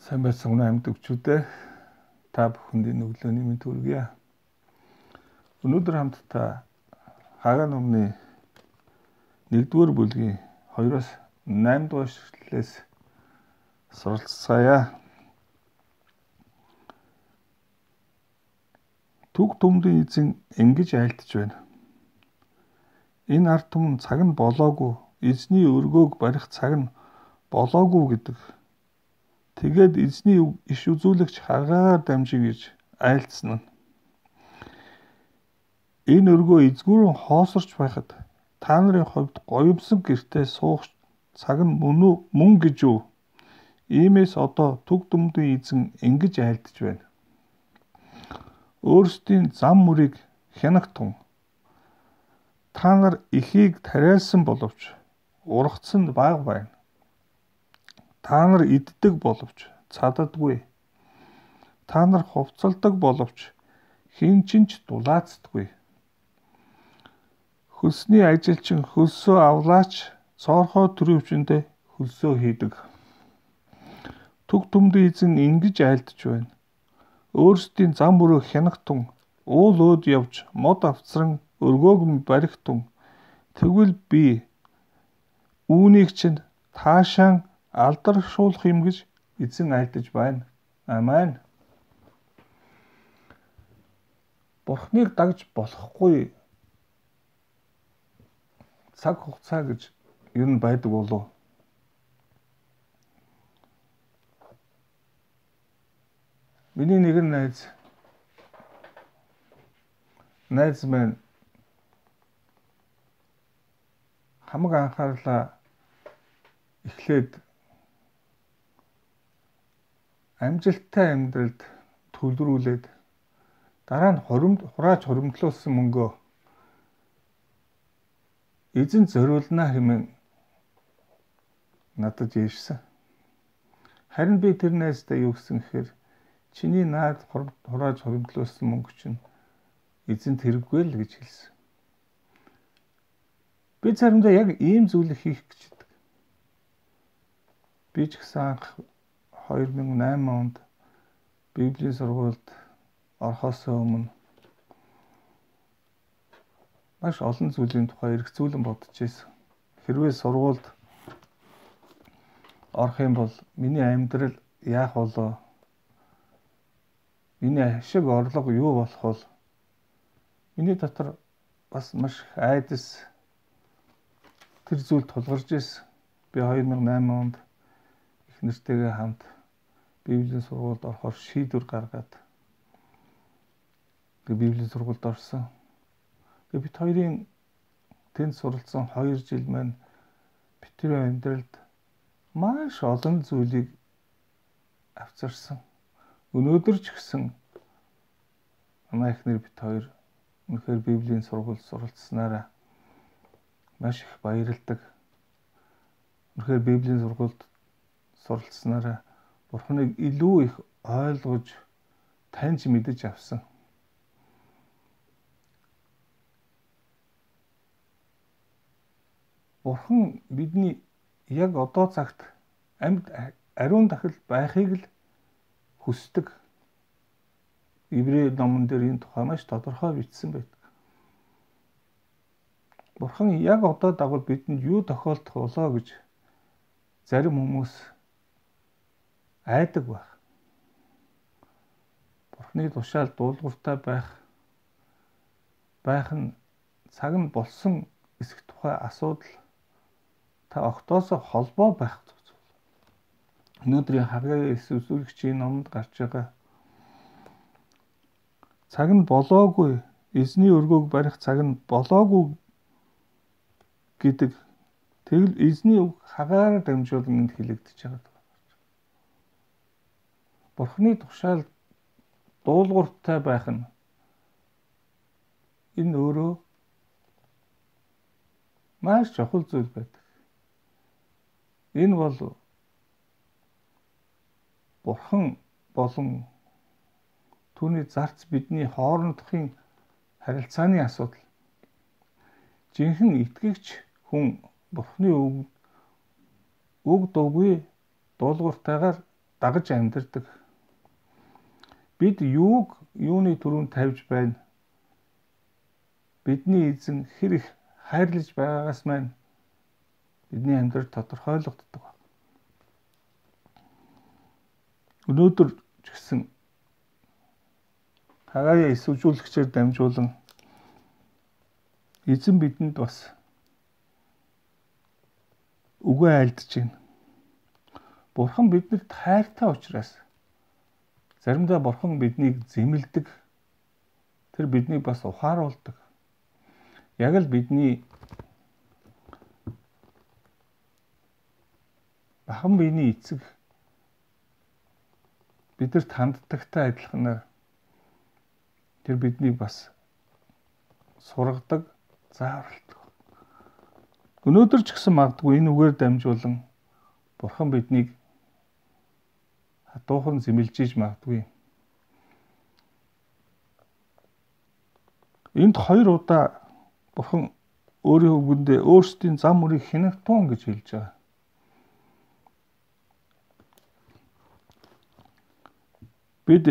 Сайн байцсан амьд өвчүүдээ та бүхэнд энэ өглөөний мэнд хүргье. Өнөөдөр хамтдаа Хагаан номны 1-р бүлгийн 2-оос 8 дугаар эшлэлээс суралцгаая. Түг түмдийн эзэн ингэж айлтж байна. Энэ ард түмэн цаг нь болоогүй, эзний өргөөг барих цаг нь болоогүй гэдэг. Тэгээд эзний иш үзүүлэгч Хагаар дамжин гэж айлцсан нь. Энэ өргөө эзгүүрэн хоосорч байхад та нарын хувьд гоёмсон гэртээ суух цаг нь мөн гэж үү? Иймээс одоо түг түмдийн эзэн ингэж айлтж байна. Өөрсдийн зам мөрийг хянагтун. Та нар ихийг тариалсан боловч ургацсан баг байна. Та нар иддэг боловч цаддаггүй. Та нар хувцалдаг боловч хэн ч дулаацдаггүй. Хөлсний ажилчин хөлсөө авлаач цоорхоо төрөвчөндөө хөлсөө хийдэг. Түг түмдийн эзэн ингэж айлтж байна. Өөрсдийн зам мөрөө хянагтун, уул өөд явж мод авцран өргөөг нь барихтун. Тэгвэл би үүнийг чинь таашаан алдаршуулах юм гэж эзэн айлтж байна. Амен. Бурхныг дагж болохгүй цаг хугацаа гэж ер нь байдаг болов. Миний нэгэн найз маань хамаг анхаарлаа эхлээд амжилттай амьдралд төвлөрүүлээд дараа нь хурааж хуримтлуулсан мөнгөө эзэн зориулнаа хэмээн надад ярьсан. Харин би тэр найздаа юу гэсэн гэхээр чиний наад хурааж хуримтлуулсан мөнгө чинь эзэнт хэрэггүй л гэж хэлсэн. Би заримдаа яг ийм зүйлийг хийх гэж байдаг. Би ч гэсэн анх 2008 онд Библийн сургуульд орохоос өмнө маш олон зүйлийн тухай эргцүүлэн бодож байсан. Хэрвээ сургуульд орох юм бол миний амьдрал яах болоо? Миний ашиг орлого юу болох вэ? Миний дотор бас маш айдас тэр зүйл тулгарч ирсэн. Би 2008 онд их нэртэйгээ хамт Библийн сургуульд орохоор шийдвэр гаргаад Библийн сургуульд орсон. Бид хоёрын тэнд суралцсан 2 жил маань бидний амьдралд маш олон зүйлийг авчирсан. Өнөөдөр ч гэсэн манай эхнэр бид хоёр үнэхээр Библийн сургуульд суралцсанаараа маш их баярлдаг. Үнэхээр Библийн сургуульд суралцсанаараа Бурхныг илүү их ойлгож, таньж мэдэж авсан. Бурхан бидний яг одоо цагт амьд ариун дахил байхыг л хүсдэг. Ибрэ номон дээр энэ тухай маш тодорхой бичсэн байдаг. Бурхан яг одоо дагавар бидэнд юу тохиолдох болоо гэж зарим хүмүүс айдаг байх. Бурхны тушаал дуулууртай байх нь цаг нь болсон эсэх тухай асуудал та огтоосоо холбоо байх зүйл. Өнөөдрийн Хагаан иш үзүүлэгчийн номонд гарч байгаа цаг нь болоогүй, эзний өргөөг барих цаг нь болоогүй гэдэг тэгл эзний үг Хагаар дамжуулан энд хэлэгдэж байгаа. Бурхны тушаал дуулууртай байх нь энэ өөрөө маш чухал зүйл байдаг. Энэ бол Бурхан болон Түүний зарц бидний хоорондохын харилцааны асуудал. Жинхэнэ итгэгч хүн Бурхны үг дуугүй дуулууртайгаар дагаж амьдардаг. Бид юуны түрүүнд тавьж байна? Бидний эзэн хэр их хайрлаж байгаагаас маань бидний амьдрал тодорхойлогддог. Өнөөдөр ч гэсэн Хагая эсвжүүлэгчээр дамжуулан эзэн бидэнд бас үгээ айлдж байна. Бурхан биднэрт хайртай учраас заримдаа Бурхан биднийг зэмлдэг. Тэр биднийг бас ухааруулдаг. Яг л бидний бахан биений эцэг бидэрт ханддагтай адилханаар тэр биднийг бас сургадаг, зааварладаг. Өнөөдөр ч гэсэн магадгүй энэ үгээр дамжуулан Бурхан биднийг хатуухан зэмлжиж магадгүй. Энд 2 удаа Бурхан өөрийн үгэндээ өөрсдийн зам мөрийг хянагтуун гэж хэлж байгаа. Бид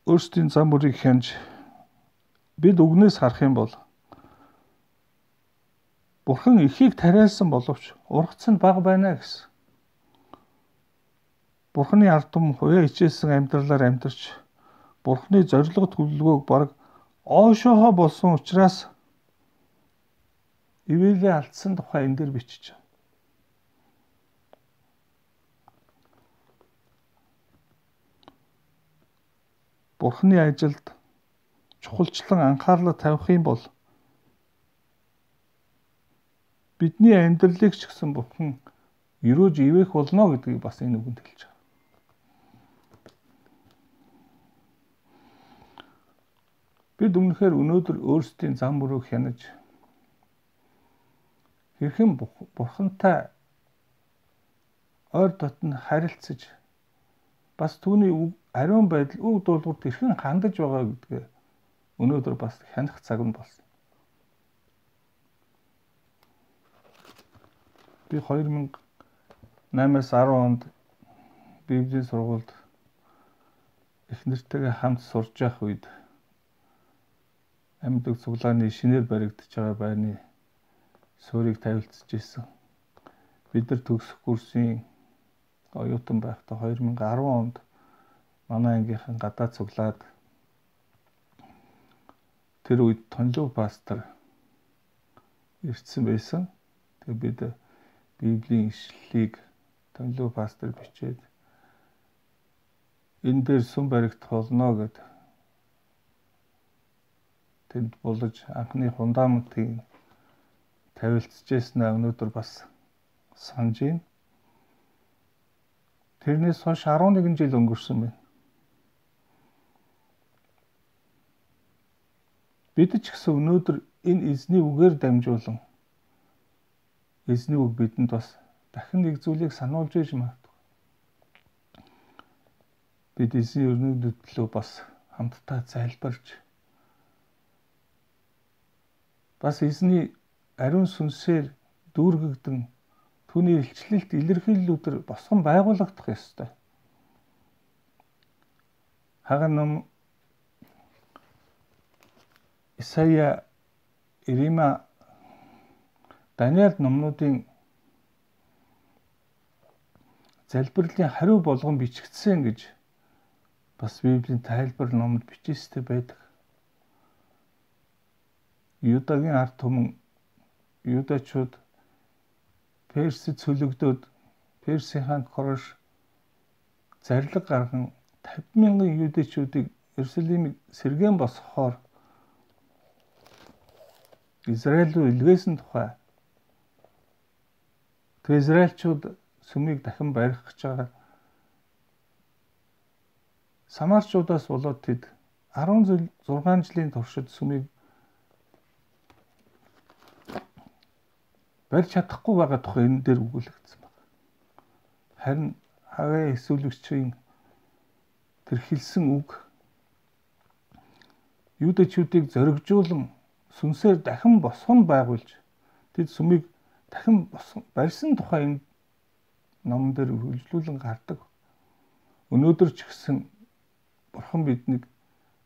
өөрсдийн зам мөрийг хянж бид үгнээс харах юм бол Бурхан ихийг тариалсан боловч ургац нь бага байна гэсэн. Бурханы ард түмэн хуяа хичээсэн амьдралаар амьдарч Бурханы зориг төлөвлөгөөг бараг оошоохоо болсон учраас ивэлээ алдсан тухай энэ дэр бичиж байна. Бурханы ажилд чухалчлан анхаарлаа тавих юм бол бидний амьдралыг ч гэсэн Бурхан өрөөж ивэх болно гэдгийг бас энэ үгэнд хэлж байгаа. Бид өмнөхөр өнөөдөр өөрсдийн зам мөрөө хянаж хэрхэн Бурхантай ойр дотн харилцаж бас түүний ариун байдал үг дуулуурт хэрхэн хандаж байгаа гэдгээ өнөөдөр бас хянах цаг нь болсон. Би 2008-аас 10 онд Библийн сургуульд эхнэртэйгээ хамт сурж явах үед амьд цуглааны шинээр баригдаж байгаа байрны суурийг тавилцж ирсэн. Бид нар төгсөх курсын оюутан байхдаа 2010 онд манай ангийнхан гадаад цуглаад тэр үед Тонлов пастор ирсэн байсан. Тэгээ бид Библийн ишлэлийг Тонлов пастор бичээд энэ дээр сүм баригдах болно гэд тэнд булаж анхны фундаментыг тавилцчихсан өнөөдөр бас санаж байна. Тэрнээс хойш 11 жил өнгөрсөн байна. Бид ч гэсэн өнөөдөр энэ эзний үгээр дамжуулан эзний үг бидэнд бас дахин нэг зүйлийг сануулж иж магадгүй. Бид эзний өрнөд төлөө бас хамтдаа залбирч бас эзний ариун сүнсээр дүүргэгдэн түүний илчлэлт илэрхийллүүдээр босгон байгуулагдах ёстой. Хаган ном Исая, Ирема, Даниэл номнуудын залбирлын хариу болгон бичигдсэн гэж бас Библийн тайлбар номд бичээстэй байдаг. Юдагийн ард түмэн юдачууд Персид цөлөгдөөд Персийн хаан Корош зарлиг гарган 50,000 юдачуудыг Иерусалимыг сэргээн босгохоор Израиль руу илгээсэн тухай. Тэгээ израильчууд сүмийг дахин барих гэж байгаа. Самарчуудаас болоод тэд 16 жилийн туршид сүмийг барьж чадахгүй байгаа тухай энэ дээр өгүүлэгдсэн байна. Харин Хагая эсвүүлэгчийн тэр хэлсэн үг юудэчүүдийг зоригжуулан сүнсээр дахин босгон байгуулж тэд сүмийг дахин барьсан тухай энэ номон дээр үргэлжлүүлэн гардаг. Өнөөдөр ч гэсэн Бурхан биднийг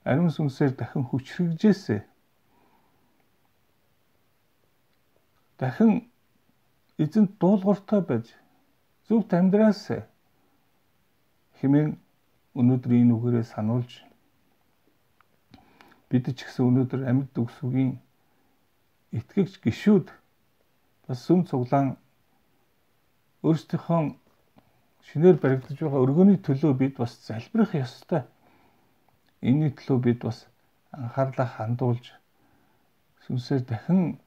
ариун сүнсээр дахин хүчрхэгжээсэ. Дахин эзэнт дуулууртай байж зөвхт амьдраасэ хэмээн өнөөдөр энэ үгээрээ сануулж бид ч гэсэн өнөөдөр амьд үгсүгийн итгэгч гишүүд бас сүм цуглаан өөрсдийнхөө шинээр баригдаж байгаа өргөний төлөө бид бас залбирах ёстой. Энэний төлөө бид бас анхаарлаа хандуулж сүнсээр дахин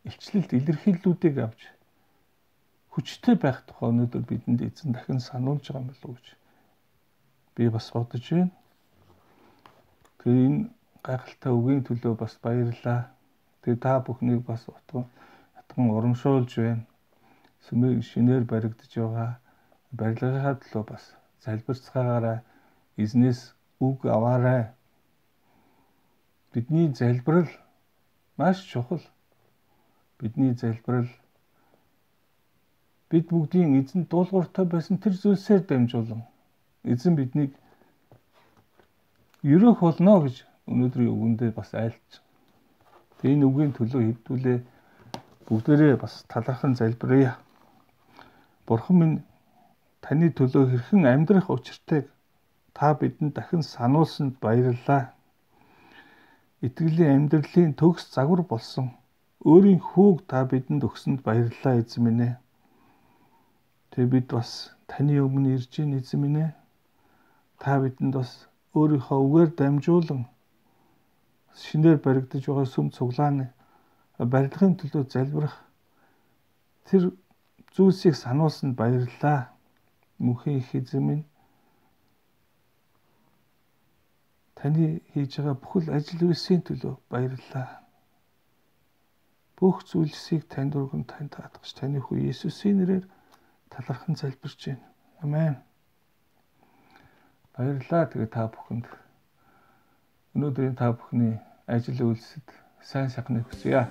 илчлэлт илэрхийллүүдийг авч хүчтэй байх тухай өнөөдөр бидэнд эзэн дахин сануулж байгаа юм болов уу гэж би бас бодож байна. Тэгээ энэ гайхалтай үгийн төлөө бас баярлалаа. Тэгээ та бүхнийг бас утган урамшуулж байна. Сүмийг шинээр баригдаж байгаа барилгынхаа төлөө бас залбирцгаагаараа эзнээс үг аваарай. Бидний залбирал маш чухал. Бидний залбирал бид бүгдийн эзэн дуулууртай байсан тэр зүйлсээр дамжуулан эзэн биднийг ерөөх болно гэж өнөөдрийн үгэндээ бас айлтж. Энэ үгийн төлөө хэвдүүлээ бүгдээрээ бас талархан залбирая. Бурхан минь таны төлөө хэрхэн амьдрах учиртайг та бидэнд дахин сануулсанд баярлалаа. Итгэлийн амьдралын төгс загвар болсон өөрийн хүүг та бидэнд өгсөнд баярлалаа эзэн минь ээ. Тэгээ бид бас таны өмнө ирж гин эзэн минь ээ. Та бидэнд бас өөрийнхөө үгээр дамжуулан шинээр баригдаж байгаа сүм цуглааны барилгын төлөө залбирах тэр зүйлсийг сануулсанд баярлалаа. Мөнхийн их эзэн минь таны хийж байгаа бүхэл ажил үйлсийн төлөө баярлалаа. Бүх зүйлсийг танд өргөн тань таатгаж таны хүү Есүсийн нэрээр талархан залбирч байна. Амен. Баярлалаа. Тэгээ та бүхэнд өнөөдрийн та бүхний ажил үйлсэд сайн сайхныг хүсье.